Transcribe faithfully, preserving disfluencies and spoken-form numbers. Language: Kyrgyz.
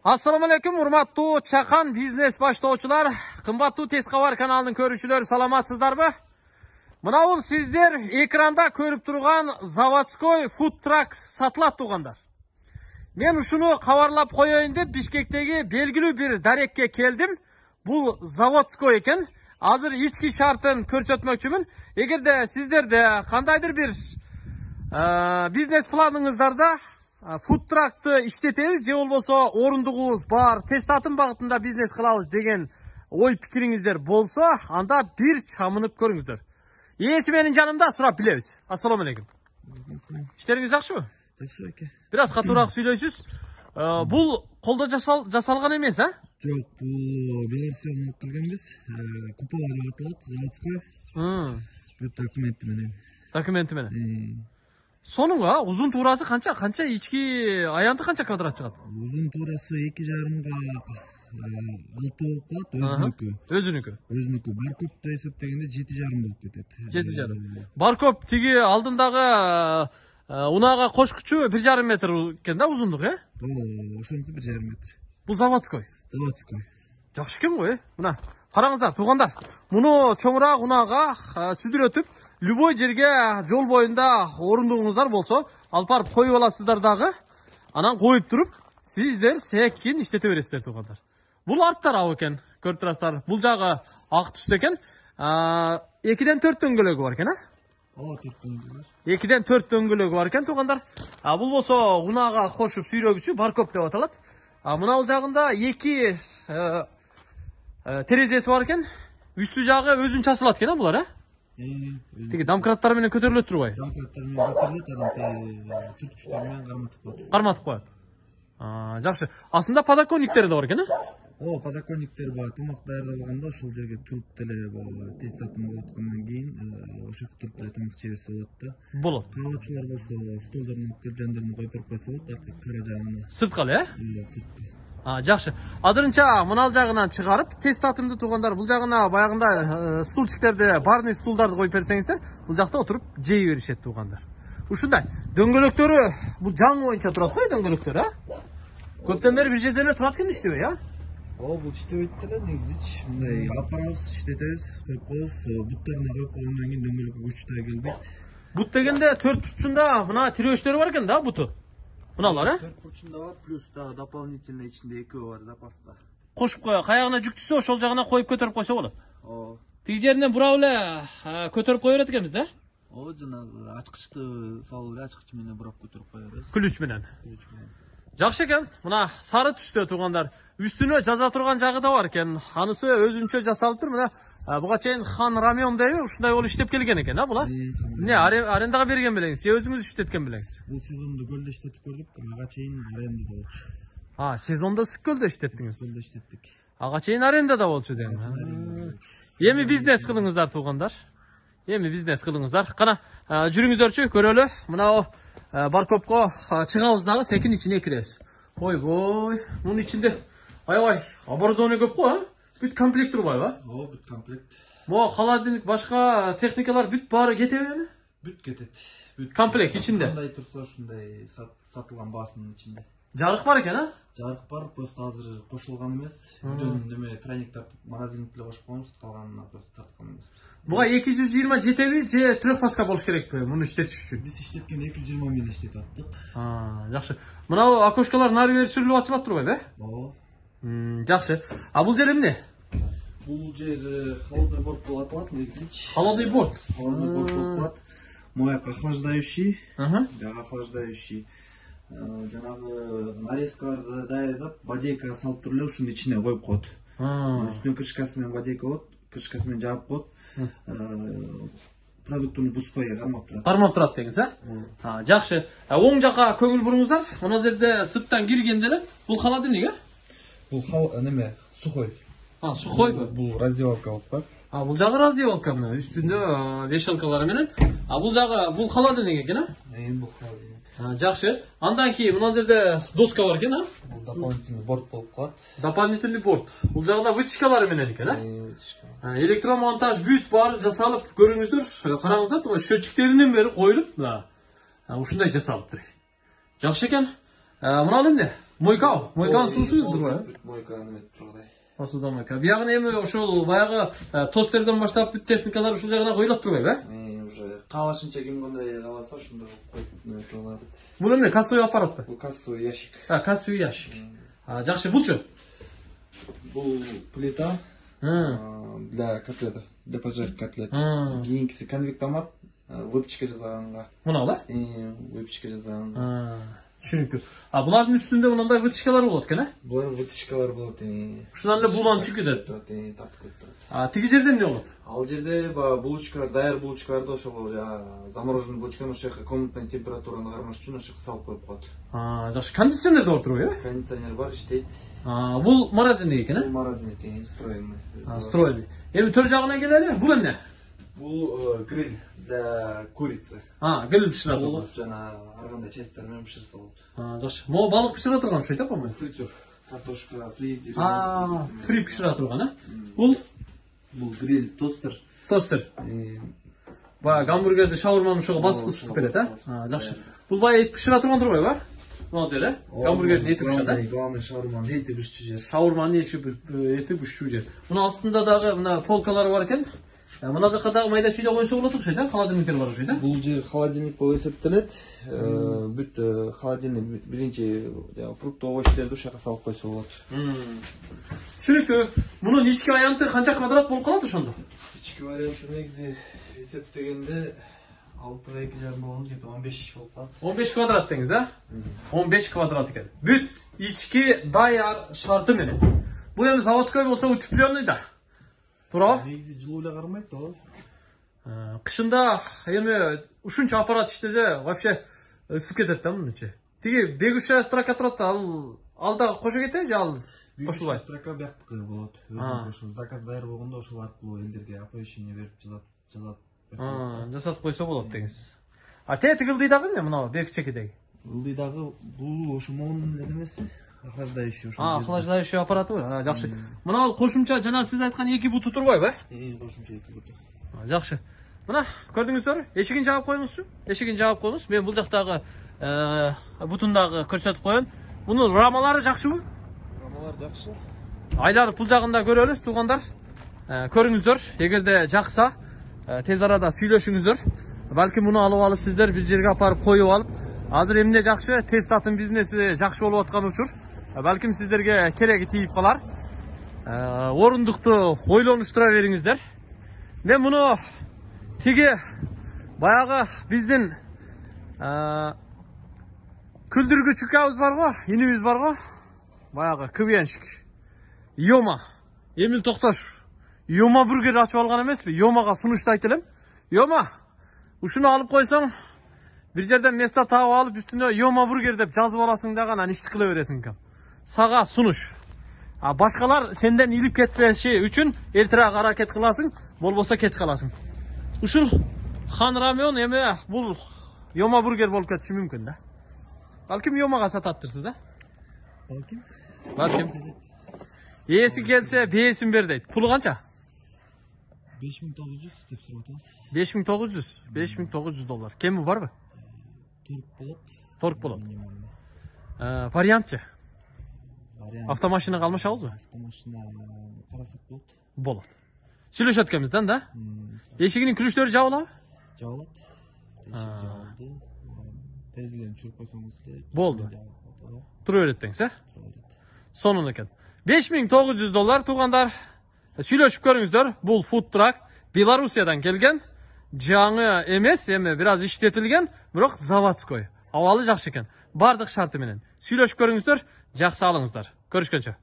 Assalamu alaikum, урматтуу чакан бизнес баштоочулар, кымбаттуу Тез кабар каналынын көрүүчүлөрү, саламатсыздарбы? Мына бул сиздер экранда көрүп турган заводской фудтрак сатылат тугандар. Мен ушуну кабарлап коеюн деп Бишкектеги белгилүү бир дарекке келдим. Бул заводской экен. Азыр ички шартын көрсөтмөкчүмүн. Эгерде сиздерде кандайдыр бир бизнес планыңыздарда фудтракты иштетебиз же болбосо орундугубуз бар, тестатын багытында бизнес кылабыз деген ой пикириңиздер болсо, анда бир чамынып көрүңүздөр. Ээси менин жанымда, сурап билебиз. Ассаламу алейкум. Иштериңиз жакшыбы? Жакшы эке. Бир аз катуураак сүйлөйсүз. Бул колдо жасалган эмес, а? Жок, бул Беларусьтан алып келгенбиз. Купова деп аталат, заводской. Бул документи менен. Документи менен. Сонунга узун туурасы канча? Канча ички аянты канча квадрат чыгат? Узун туурасы эки жарымга алты болуп калат, өзүнүкү. Өзүнүкү. Өзүнүкү. Баркопто эсептегенде жети жарым болуп кетет. жети жарым. Баркоп тиги алдындагы унаага кошкучу бир жарым метр экен да узундугу, э? Оо, ошонусу бир жарым метр. Бул заводской. Заводской. Жакшы экен го, э? Мына, караңыздар, туугандар. Муну чоңураак унаага сүдүрөтүп, любой жерге жол боюнда орундугуңуздар болсо, алып барып коюп аласыздар дагы. Анан коюп туруп, сиздер секин иштете бересиздер, туугандар. Бул арт тарабы экен, көрүп турасыздар. Бул жагы ак түстө экен. экиден төрт дөңгөлөгү бар экен, а? Оо, төрт дөңгөлөк. экиден төрт дөңгөлөгү бар экен, туугандар. А бул болсо унаага кошуп сүйрөгүчү, баркоп деп аталат. А мына бул жагында эки терезеси бар экен. Үстү жагы өзүнчө ачылат экен, а булар, э? Тиги домкраттар менен көтөрүлөт турбайбы? Домкраттар менен көтөрүлөт, анан түрткүчтөр менен карматып коет. Карматып коет. Жакшы. Астында подоконниктери да бар экен, э? О, подоконниктер бар. Тамак даярдалганда ошол жерге туруп деле тестатын болуп аткандан кийин ошол туруп деле тамак жей берсе болот да. Болот. Каалоочулар болсо столдорун алып келип жандарын коюп берип койсо болот, аркы кара жагына. Сырткы эле, э? Ооба, сырткы. А, жакшы. Азырынча мынал жагынан чыгарып, тестатымды туугандар, бул жагына баягында стульчиктерди, барный стулдарды коюп берсеңиздер, бул жакта отуруп жей беришет туугандар. Ушундай. Дөңгөлөктөрү бул жаңы боюнча турат го, дөңгөлөктөр, а? Көптөн бери бир жерде эле турат экен, иштебей, а? О, бул иштебейт деле, негизичи. Мындай алып барабыз, иштетебиз, коюп коебуз. Буттарына коюп койгондон кийин дөңгөлөккө күч да келбейт. Бут дегенде төрт бурчунда мына тирөөчтөрү бар экен да, буту. Мыналар, э? төрт бурчунда бар, плюс дагы дополнительно ичинде экөө бар запаска. Кошуп кое, каягына жүк түшсө, ошол жагына коюп көтөрүп койсо болот. О. Тиги жеринен бурап эле көтөрүп кое берет экенбиз да? О, жанагы ачкычты салып эле ачкыч менен бурап көтөрүп кое беребиз. Ключ менен. Ключ менен. Жакшы экен. Мына сары түстө туугандар. Үстүнө жаза турган жагы да бар экен. Анысы өзүнчө жасалыптыр. Мына буга чейин Хан Рамион дейби, ушундай болуп иштеп келген экен, а була? Эмне, арендага берген белеңиз же өзүңүз иштеткен белеңиз? Бул сезондо көлдө иштетип көрдүк, ага чейин арендада болчу. А, сезондо ысык көлдө иштеттиңиз. Көлдө иштеттик. Ага чейин арендада болчу дейм. Эми бизнес кылыңыздар туугандар. Эми бизнес кылыңыздар. Кана жүрүңүздөрчү, көрөлү. Мына баркопко чыгабыз дагы, секин ичине киребиз. Ойбой, мунун ичинде аябай оборудование көп го, а? Бүт комплект турбайбы, а? О, бүт комплект. Мо холодильник, башка техникалар бүт баары кетебиби? Бүт кетет. Бүт комплект ичинде. Кандай турса ушундай сатылган баасынын ичинде. Жарык бар экен, а? Жарык бар, просто азыр кошулган эмес. Үйдөн неме тройник тартып, морозильник эле кошуп коебуз, калганына просто тарткан эмеспиз. Буга эки жүз жыйырма жетеби же трехфазка болуш керекпи муну иштетиш үчүн? Биз иштеткен эки жүз жыйырма менен иштетип аттык. А, жакшы. Мына окошкалар нары бери сүрүлүп ачылат турбайбы, э? Ооба. Жакшы. А бул жер эмне? Бул жер холодный борт болуп аталат, негизичи. Холодный борт. Холодный борт болуп калат. Мояк охлаждающий, жага охлаждающий. Жанагы нарезкаларды даярдап, бодейка салып туруп эле ушунун ичине коюп коет. Үстүнө крышкасы менен бодейка болот, крышкасы менен жаап коет. Продуктуну бузбай кармап турат. Кармап турат деңиз, а? Жакшы. Оң жакка көңүл буруңуздар. Мына жерде сырттан киргенде эле бул холодильник, э? Бул неме, сухой. А, сухойбу? Бул раздевалка болуп калат. А, бул жагы раздевалка мына, үстүндө вешалкалары менен. А бул жагы бул холодильник экен, а? Э, бул холодильник. Жакшы. Андан кийин мына жерде доска бар экен, а? Бул дополнительный борт болуп калат. Дополнительный борт. Бул жагында вытяжкалары менен экен, а? Вытяжка. Электромонтаж бүт баары жасалып, көрүңүздөр. Караңыздар, тоо счетчиктеринен бери коюлуп, мына ушундай жасалыптыр. Жакшы экен. Мына эмне? Мойка, мойканын суусу турбайбы? Мойка неме тургандай. Посуда мойка. Биягы эми ошол баягы тостерден баштап бүт техникалар ушул жагына коюлат турбайбы, э? Уже каалашынча ким кандай кааласа ошондой коюп неме кыла алат. Бул эмне, кассовый аппаратпы? Бул кассовый ящик. А, кассовый ящик. Жакшы, булчу? Бул плита для котлетов, для поджарки котлет. Кийинкиси конвектомат, выпечка жасаганга. Мына да? Выпечка жасаганга. Түшүнүктүү. А булардын үстүндө мындай вытяжкалар болот экен, э? Булар вытяжкалар болот. Ушундан эле булан түкүзөт. Тартып коюп турат. А тиги жерде эмне болот? Ал жерде баягы булочкалар, даяр булочкаларды ошол замороженный булочканы ошол жака комнатный температураны кармаш үчүн ошол жака салып коюп коет. А, жакшы. Кондиционер да бар турбайбы, э? Кондиционер бар, иштейт. А, бул морозильник экен, э? Бул морозильник экен, встроенный. А, встроенный. Эми төр жагына келели. Бул эмне? Бул гриль для курицы. А, гриль пишире турган. Жана ар кандай частьтар менен пиширсе болот. А, жакшы. Могу балык пишире турган ошойт, э, по-моему? Фритюр, картошка фри. А, фри пишире турган, э? Бул бул гриль тостер. Тостер. Баягы гамбургерди, шаурманы ошого басып ысытып берет, э? А, жакшы. Бул баягы эт пишире турган турбайбы, э? Могу жер, э? Гамбургердин эти пишат, э? Главный шаурманын эти пишчү жер. Шаурманын эти пишчү жер. Мына астында дагы мына полкалар бар экен. Мына жака дагы майда чүйдө койсо болот окшойт, э? Холодильниктер бар окшойт, э? Бул жер холодильник болуп эсептелет. Бүт холодильник биринчи фруктовый овощторду ушака салып койсо болот. Түшүнүктүү. Мунун ички аянты канча квадрат болуп калат ошондо? Ички варианты негизи эсептегенде алтыга эки жарым болгондо где-то он беш болуп калат. он беш квадрат деңиз, э? он беш квадрат экен. Бүт ички даяр шарты менен. Бул эми заводской болсо утепленный да. Туурабы? Негизи жылуу эле кармайт да. Кышында эми ушунча аппарат иштесе, вообще ысып кетет да мунун ичи. Тиги бегущая строка турат да, ал ал дагы кошо кетеби же ал кошулбайт? Строка бияктыкы болот. Өзүнүн ошол заказ даяр болгондо ошол аркылуу элдерге оповещение берип жазат, жазат. Жасатып койсо болот деңиз. А те тигилди дагы эмне мына бекчекидеги? Ылдый дагы бул ошо монун немеси? Охлаждающий ошол. А, охлаждающий аппараты. Жакшы. Мына ал кошумча жана сиз айткан эки буту турбайбы, э? Э, кошумча эки буту. Жакшы. Мына көрдүңүздөр, эшигин жаап коюңузчу. Эшигин жаап коюңуз. Мен бул жактагы бутундагы көрсөтүп коеюн. Мунун рамалары жакшыбы? Рамалар жакшы. Айланып бул жагында көрөлү, туугандар. Көрүңүздөр, эгерде жакса, тез арада сүйлөшүңүздөр. Балким муну алып алып сиздер бир жерге апарып коюп алып, азыр эмне жакшы, тестатын бизнеси жакшы болуп аткан учур. Балким сиздерге кереги тийип калар. Орундукту ойлонуштура бериңиздер. Мен муну тиги баягы биздин күлдүргүч укабыз бар го, инибиз бар го. Баягы КВНщик. Йома. Эмил Токтош. Йома бургер ачып алган эмеспи? Йомага сунуштайт элем. Йома. Ушуну алып койсоң, бир жерден место таап алып, үстүнө Йома бургер деп жазып аласың да гана ишти кыла бересиң экен. Сага сунуш. А башкалар сенден илип кетпеши үчүн эртерээк аракет кыласың, болбосо кеч каласың. Ушул хан рамион эми бул Йома бургер болуп кетиши мүмкүн да. Балким Йомага сататтырсыз, а? Балким. Балким. Ээси келсе бээсин бер дейт. Пулу канча? беш миң тогуз жүз деп сурап атабыз. беш миң тогуз жүз. беш миң тогуз жүз доллар. Кеми барбы? Торг болот. Торг болот. Э, вариантчы? Вариант. Автомашинага алмашабызбы? Автомашина карасак болот. Болот. Сүйлөшөт экенбизден да? Эшигинин күлүштөрү жабылабы? Жабылат. Эшик жабылды. Терезелерин чуруп койсоңуз эле. Болду. Тура берет деңиз, э? Сонун экен. беш миң тогуз жүз доллар туугандар. Сүйлөшүп көрүңүздөр. Бул фуд трак Белоруссиядан келген. Жаңы эмес, эми бир аз иштетилген, бирок заводской. Абалы жакшы экен. Бардык шарты менен. Сүйлөшүп көрүңүздөр, жакшы алыңыздар. Көрүшкөнчө.